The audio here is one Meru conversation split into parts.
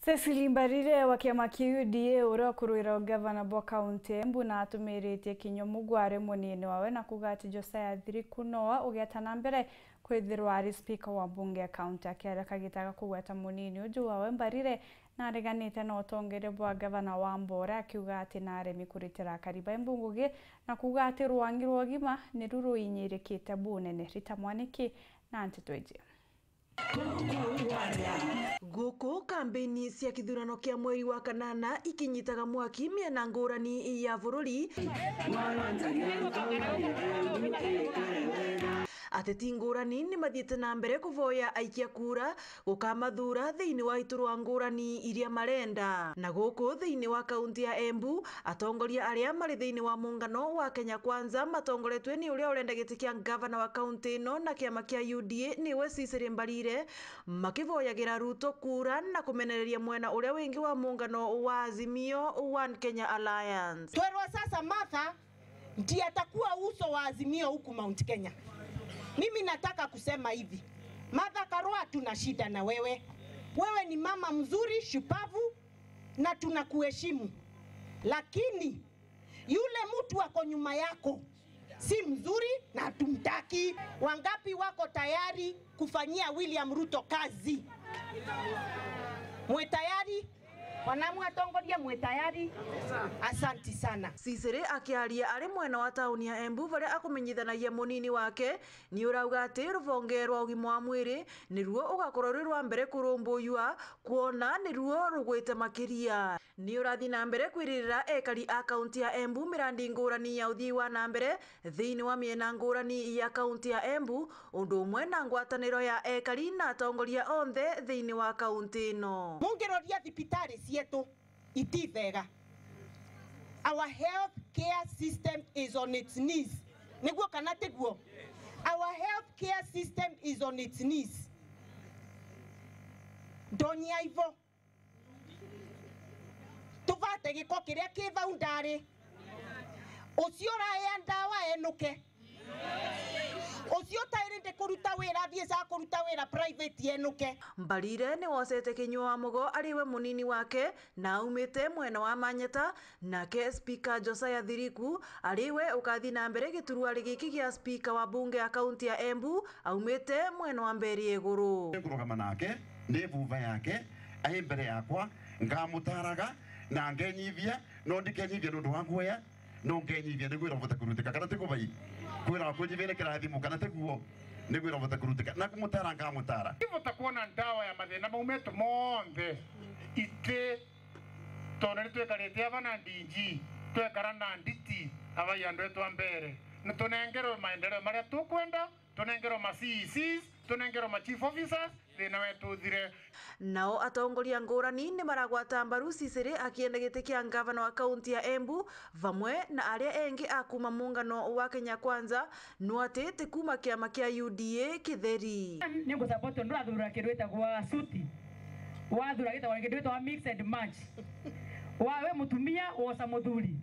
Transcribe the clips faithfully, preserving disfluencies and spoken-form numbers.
Cecily Mbarire wa kiama kia U D A, uria ukurwira ugavana bwa kaunti ya Embu, na atumiritie kinya mugware munini wawe na kuuga ati Josiah Thiriku nowe ugeeta na mbere kwithirwa ari spika wa mbunge ya kaunti. Akiaria kagita ga kugweta munini uju wawe, Mbarire nareganite na utongeria bwa gavana Wambora, akiuga ati naaremi kuritira akari ba Embu ngugi, na kuuga ati rwangi rwa ugima niru ruinyirikite bunene. Rita Mwaniki na nteto iji. Guku kambeini cia kithurano kia mweri wa kanana ikinyitaga mwaki miena ngurani ya bururi, ateti ngurani ni mathiite na mbere kuvoya aikia kura gukamathura thiini wa iturwa ngurani iria marenda. Na guku thiini wa kaunti ya Embu, atongoria aria mari thiini wa muungano wa Kenya Kwanza matongoretue ni uria urenda giti kia ngavana wa kaunti ino na kiama kia U D A niwe Cecily Mbarire, makivoyagira Ruto kura na kumenereria mwena uria wingi wa muungano wa Azimio One Kenya Alliance. Twerwa sasa Martha ndiye atakuwa uso wa Azimio huku Mount Kenya. Mimi nataka kusema hivi, Martha Karua, hatuna shida na wewe. Wewe ni mama mzuri, shupavu, na tunakuheshimu. Lakini yule mtu ako nyuma yako si mzuri na hatumtaki. Wangapi wako tayari kufanyia William Ruto kazi? Mwe tayari? Wanamwe atongoria, mwe tayari? Asanti sana. Cecily akiaria ari mwena wa tauni ya Embu, varia akumenyithanagia munini wake, ni urauga ati ruvonge rwa ugima wa mwiri niruo ugakorwo rwi rwa mbere kurumbuyua, kwona niruo rugwite makiria. Ni urathi na mbere kwiririra ekari a kaunti ya Embu mirandi ngurani ya uthii wa na mbere thiini wa miena ngurani ya kaunti ya Embu, undu umwe na ngwataniro ya ekari na atongoria onthe thiini wa kaunti ino. Mungiroria thibitari cietu iti bega. Our health care system is on its knees. Niguo kana tiguo? Our health care system is on its knees. Ndonyia ivo. Tubate giko kiria ki vau ndari. Ucio uraya ndawa enuke. Ucio utairi ndi kuruta wira, athie ca kuruta wira private enuke. Mbarire ni wocete kinyua wa mugo ari we munini wake na aumite mwena wa Manyata, nake spika Josiah Thiriku ari we ukathi na mbere gituruari giki gia spika wa bunge ya kaunti ya Embu aumite mwena wa Mberi Iguru. Nkurugama nake, ndi vuva yake, ai mbere yakwa, ngamutaraga na ngenyithia, no ndikenyithia nundu wa nguoya, no ngenyithia niguo irovote kurutika, kana ti kubai? Kwira kunyithia ni kirathimo, kana ti guo? Niguo irovote kurutika, na kumutara ngamutara. Ivota kuona ndawa ya mathina mau metu monthe iti, tondu ni twikarite ava na D G, twekara na nditi, abai andu etu a mbere, ni tunengerwe maendeleo maria tukwenda, tunengerwe ma C E Cs, tunengerwe ma chief officers, thina wetu uthire. Nao atongoria ngurani ni maragwata mbaru Cecily akienda giti kia ngavana wa kaunti ya Embu, vamwe na aria engi a kuma muungano wa Kenya Kwanza, no ati ti kuma kiama kia U D A kitheri. Ni ngusupport undu athura kindu gitagwa suti, wathura gitagwa kindu gitagwa mix and match. Wawe mutumia wosa muthuri,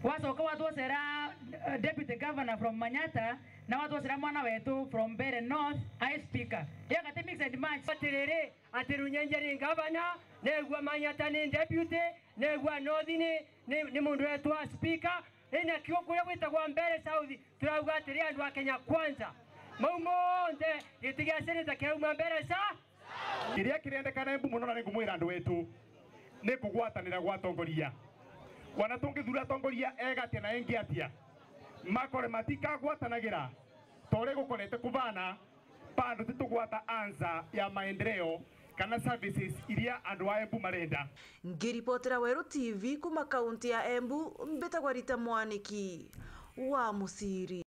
wacoka watwocera, eh, deputy governor from Manyata, na watwocera mwana wetu from Mbeere North ai speaker. Iyo gati mix and match. Atiriri, ati Runyenje ni ngavana, negua Manyata ni deputy, negua North ni, ni, ni mundu wetwa speaker, ina kiu kuria gwitagwa Mbeere South, turauga atiri andu a Kenya Kwanza. Mau monthe, giti gia senator kirauma Mbeere South. Kiria kirendekana Embu muno, na ni ngumwira andu wetu, ni kugwatanira gwa atongoria. Wana tungithura atongoria ega atia na engi atia, makore matikagwatanagira ta uria gukorete kubana, bado titugwata ansa ya maendeleo kana services iria andu a Embu marenda. Ngiripotera Weru T V kuma kaunti ya Embu, mbitagwa Rita Mwaniki wa Musiri.